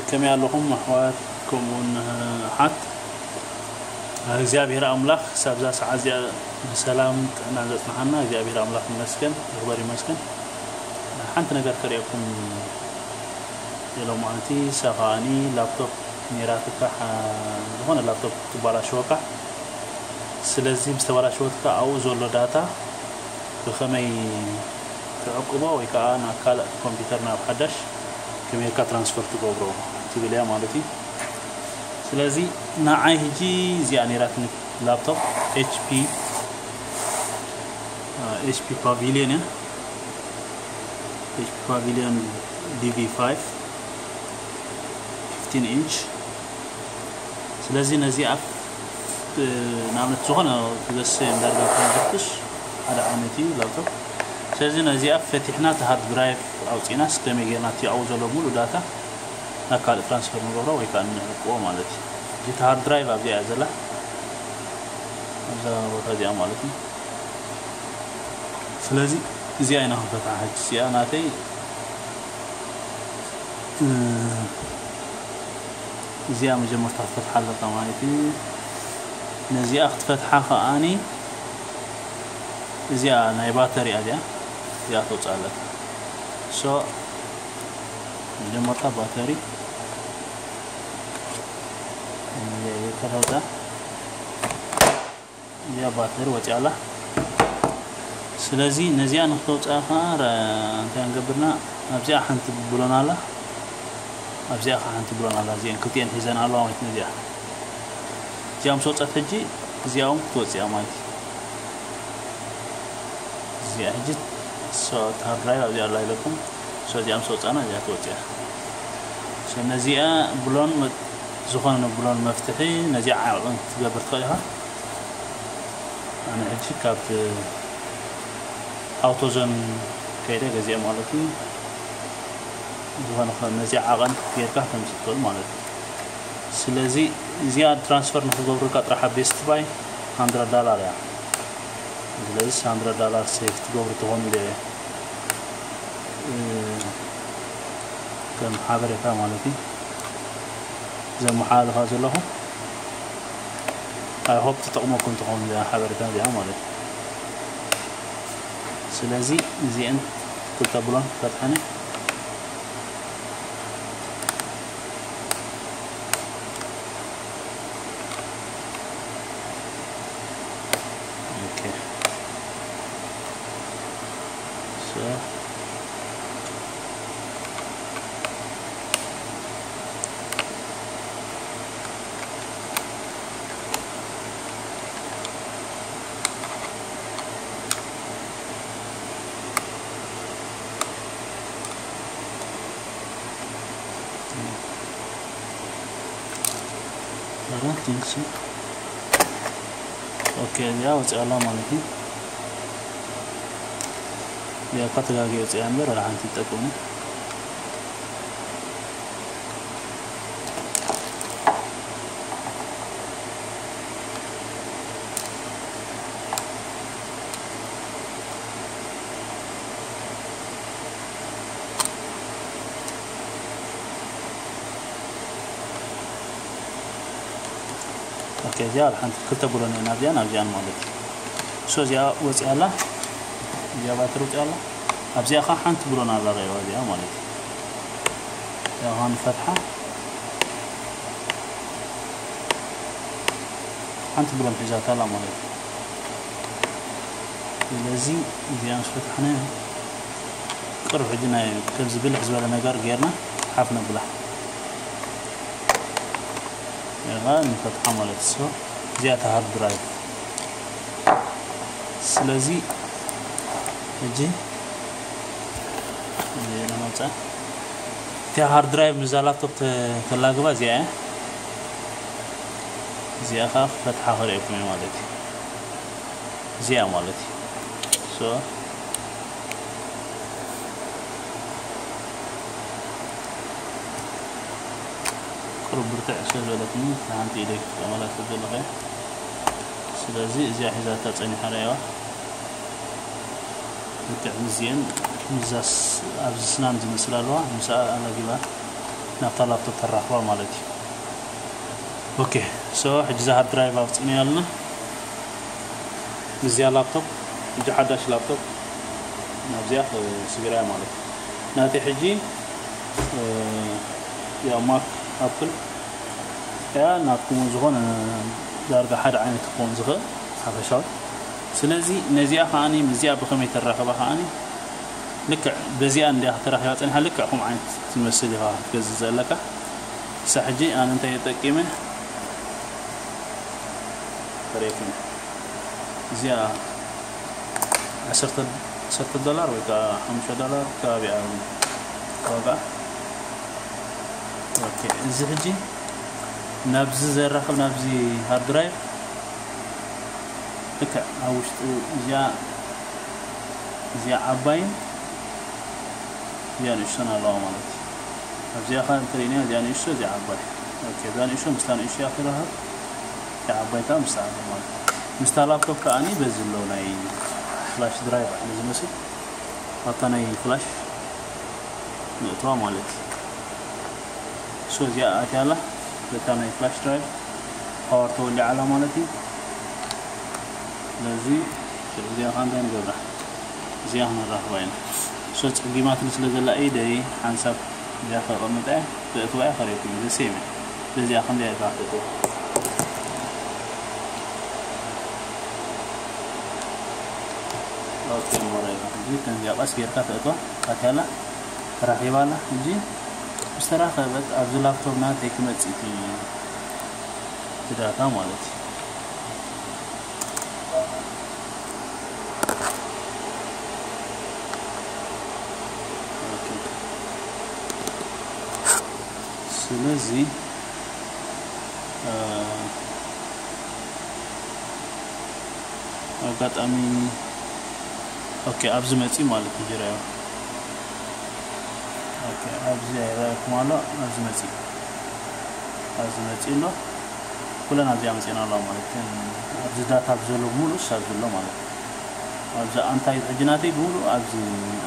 ከመይ ኣለኹም ኣሕዋት፣ ከምኡውን ኣሓት? እግዚኣብሔር ኣምላኽ ሳብዛ ሰዓት እዚኣ ብሰላም ጥዕና ዘጽንሓና እግዚኣብሔር ኣምላኽ ይመስገን፣ ይኽበር ይመስገን። ሓንቲ ነገር ከርእየኩም የሎማዓንቲ፣ እሳ ከኣኒ ላፕቶፕ ነይራትካ፣ ዝኾነ ላፕቶፕ ትባላሸወካ። ስለዚ ምስ ተባላሸወትካ ኣብኡ ዘሎ ዳታ ብኸመይ ትዕቅቦ ወይ ከዓ ናብ ካልእ ኮምፒውተር ናብ ሓዳሽ ከመይ ጌርካ ትራንስፈር ትገብሮ ትብል እያ ማለት እዩ። ስለዚ ንዓይ ሕጂ እዚኣ ነይራትኒ ላፕቶፕ ኤች ፒ፣ ኤች ፒ ፓቪሊዮን እያ። ኤች ፒ ፓቪሊዮን ዲ ቪ ፋይቭ ፊፍቲን ኢንች። ስለዚ ነዚኣ ንኣብነት ዝኾነ ክገሰ ዳርጋ ከንፈትሽ ሓደ ዓይነት እዩ ላፕቶፕ። ስለዚ ነዚኣ ፈቲሕና እቲ ሃርድ ድራይቭ ኣውፂእናስ ከመይ ጌርና እቲ ኣብኡ ዘሎ ሙሉእ ዳታ ናብ ካልእ ትራንስፈር ንገብሮ ወይ ከዓ ንዕቅቦ ማለት እዩ። እቲ ሃርድ ድራይቭ ኣብዚኣ እያ ዘላ፣ ኣብዛ ቦታ እዚኣ ማለት እዩ። ስለዚ እዚኣ ኢና ክንፈትሓ ሕጂ። እዚኣ ናተይ፣ እ፣ እዚኣ መጀመርታ ክትፈትሓ ኣለካ ማለት እዩ። ነዚኣ ክትፈትሓ ከኣኒ እዚኣ ናይ ባተሪ እያ፣ እዚኣ፣ እዚኣ ተውፅኣ ኣለካ። ሶ መጀመርታ ባተሪ እዚኣ ተውፅኣ። እዚኣ ባተሪ ወፂኣ ኣላ። ስለዚ ነዚኣ ንክተውፅኣ ከዓ ረ-፣ እንታይ ንገብርና? ኣብዚኣ ሓንቲ ብሎን ኣላ፣ ኣብዚኣ ከዓ ሓንቲ ብሎን ኣላ። እዚአን ክልቲአን ሒዘን ኣለዋ ማለት ነዚኣ። እዚኣ ምስ ወፀት ሕጂ እዚኣ እውን ክትወፅእ እያ ማለት እዩ። እዚኣ ሕጂ ሶ፣ እቲ ሃርድ ድራይቭ ኣብዚኣ ኣላ ኢለኩም። ሶ እዚኣ ምስ ወፃና እዚኣ ትወፅእ እያ። ሶ ነዚኣ ብሎን መ-፣ ዝኾነ ብሎን መፍትሒ ነዚኣ ዓቕን ክትገብር ትኽእል ኢኻ። ኣነ ሕጂ ካብ ኣውቶዞን ከይደ ገዚአ ማለት እዩ። ዝኾነ ከ-፣ ነዚኣ ዓቐን ጌርካ ከምዚ ትኽእል ማለት እዩ። ስለዚ እዚኣ ትራንስፈር ንክገብሩልካ ጥራሕ ኣብ ቤስት ባይ ሃንድረድ ዳላር እያ። ስለዚ ሃንድረድ ዳላር ሴፍ ትገብሩ ትኾኑ ኢለ እየ፣ እ፣ ከም ሓበሬታ ማለት እዩ ዘመሓላልፋ ዘለኹ። ኣይ ሆፕ ትጠቕመኩም ትኸውን እዚኣ ሓበሬታ እዚኣ ማለት እዩ። ስለዚ እዚአን ክልተ ብሎን ፈትሐነ። ኦኬ። ሶ ኣራት ኢንች። ኦኬ፣ እዚኣ ወፂኣ ኣላ ማለት እዩ። እዚኣ እኳ ተጋጊ ወፂኣ እምበር፣ ወላ ሓንቲ ይጠቅምና። ኦኬ፣ እዚኣ ኣብ ሓንቲ ክልተ ብሎን እየን ኣብዚኣን ኣብዚኣን ማለት እዩ። ሶ እዚኣ ወፂኣ ኣላ፣ እዚኣ ባትሪ ወፂኣ ኣላ። ኣብዚኣ ከዓ ሓንቲ ብሎን ኣላ፣ ረኣይዋ እዚኣ ማለት እዩ። እዚኣ ከዓ ንፈትሓ፣ ሓንቲ ብሎን ሒዛታ ኣላ ማለት እዩ። ስለዚ እዚኣ ምስ ፈታሕናዮ ቅርብ ሕጂ ናይ ከምዚ ብልሕ ዝበለ ነገር ጌርና ሓፍ ነብላ። እዚኣ ንፈትሓ ማለት እዩ። እዚኣ እታ ሃርድ ድራይቭ። ስለዚ ሕጂ እዚኣ ነምፅኣ። እቲኣ ሃርድ ድራይቭ ምስዛ ላፕቶፕ ተ-፣ ተላግባ እዚኣ እያ። እዚኣ ከዓ ክፈትሓ ክርእየኩም እየ ማለት እዩ። እዚኣ ማለት እዩ። ሶ ቁሩብ ብርትዕ ስለ ዝበለትኒ ንሓንቲ ኢደይ ክጥቀመላ ስለ ዘለኹ እየ። ስለዚ እዚኣ ሒዛታ ጸኒሓ ርኣይዋ። ልክዕ ምስዚአን፣ ምስዛስ ኣብዚ ስናን ዝመስል ኣለዋ፣ ምስኣ ኣላጊባ። ናብታ ላፕቶፕ ተራኽባ ማለት እዩ። ኦኬ፣ ሶ ሕጂ እዛ ሃርድ ድራይቭ ኣውፂእናያ ኣለና። ምስዚኣ ላፕቶፕ፣ ሕጂ ሓዳሽ ላፕቶፕ ናብዚኣ ስጊራያ ማለት እዩ። ናተይ ሕጂ፣ እ፣ ያው ማክ ኣፕል እያ፣ ናትኩም ዝኾነ ዳርጋ ሓደ ዓይነት ክኸውን ዝኽእል ሓፈሻዊ። ስለዚ ነዚኣ ከዓኒ ምስዚኣ ብኸመይ ተራኽባ ከዓኒ ልክዕ በዚኣ እንዲያ ተራኺባ ጸኒሓ፣ ልክዕ ከምኡ ዓይነት ትመስል ኢኻ ክትገዝእ ዘለካ። ክሳዕ ሕጂ ኣነ እንታይ ተጠቂመ? ፈሬክን እዚኣ ዓሰርተ፣ ዓሰርተ ዶላር ወይ ከዓ ሓሙሽተ ዶላር ከባቢኣ ዋጋ። ኦኬ፣ እዚ ሕጂ ናብዚ ዘራኽብ፣ ናብዚ ሃርድ ድራይቭ ልክዕ ኣብ ውሽጡ እዚኣ፣ እዚኣ ዓባይን እዚኣ ንእሽቶን ኣለዋ ማለት እዩ። ኣብዚኣ ኸ እንተሪእናያ እዚኣ ንእሽቶ፣ እዚኣ ዓባይ። ኦኬ፣ እዛ ንእሽቶ ምስታ ንእሽቶ እያ ትራኸብ፣ እዚኣ ዓባይ ከዓ ምስታ ዓባይ ማለት እዩ። ምስታ ላፕቶፕ ከዓኒ በዚ ኣሎ ናይ ፍላሽ ድራይቭ ኣሎ ዝመስል፣ ኣብታ ናይ ፍላሽ ንእትዋ ማለት እዩ። ሶ እዚኣ ኣትያ ኣላ፣ በታ ናይ ፍላሽ ድራይቭ ፓወር ተወሊዓ ኣላ ማለት እዩ። ስለዚ እዚኣ ኸ እንታይ ንገብራ? እዚኣ ክንራኽባ ኢና። ሶ ጸጊማትኒ ስለ ዘላ ኢደይ ሓንሳብ እዚኣ ከቐምጣ እየ፣ ክእትዋ እየ፣ ከርእየኩም እየ። ዘሴም እየ። በዚኣ ክንደይ እያ ትኣትዋ? ኦኬ፣ ሞራይ። እዚ ከምዚኣ ቀስ ጌርካ ተእትዋ፣ ኣትያ ኣላ፣ ተራኺባ ኣላ። ሕጂ ምስ ተራኸበት ኣብዚ ላፕቶፕ ናተይ ክመጽእ እቲ፣ እቲ ዳታ ማለት እዩ። ኦኬ። ስለዚ፣ እ፣ ኣጋጣሚ፣ ኦኬ፣ ኣብዚ መጺ ማለት እዩ፣ ጅራዮ። ኦኬ፣ ኣብዚ ኣይረኣየኩም ኣሎ፣ ኣብዚ መጺ፣ ኣብዚ መጺ ኣሎ። ኩለን ኣብዚኣ መጺና ኣለዋ ማለት እዩ። ኣብዚ ዳታ ኣብዚ ዘሎ ብምሉእ እሱ ኣብዚ ኣሎ ማለት እዩ። ኣብዚ ኣንታይ ሕጂ ናተይ ብምሉእ ኣብዚ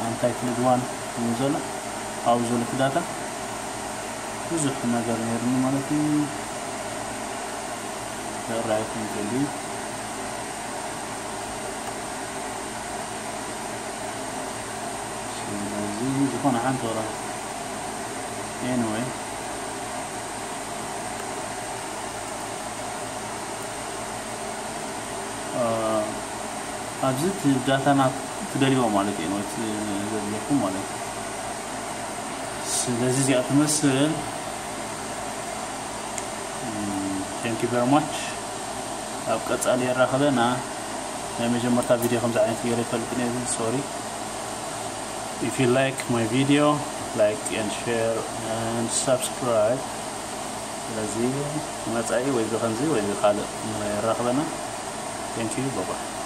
ኣንታይ ፍልድ ዋን እዩ ዘሎ፣ ኣብኡ ዘሎ እቲ ዳታ ብዙሕ ነገር ነይሩኒ ማለት እዩ። ክረኣየኩም ይኽእል እዩ። ስለዚ ዝኾነ ሓንቲ ወላ፣ ኤኒወይ፣ እ፣ ኣብዚ እቲ ዳታና ትደልይዎ ማለት እዩ፣ ኤኒወይ፣ ዘድልየኩም ማለት እዩ። ስለዚ እዚኣ ትመስል። Thank you very much። ኣብ ቀጻሊ የራኸበና። ናይ መጀመርታ ቪድዮ ከምዚ ዓይነት ገይረ ይፈልጥ ነይሩ፣ ሶሪ። If you like my video, like and share and subscribe። ስለዚ መጻኢ ወይ ብኸምዚ ወይ ብኻልእ የራኽበና። Thank you፣ bye bye።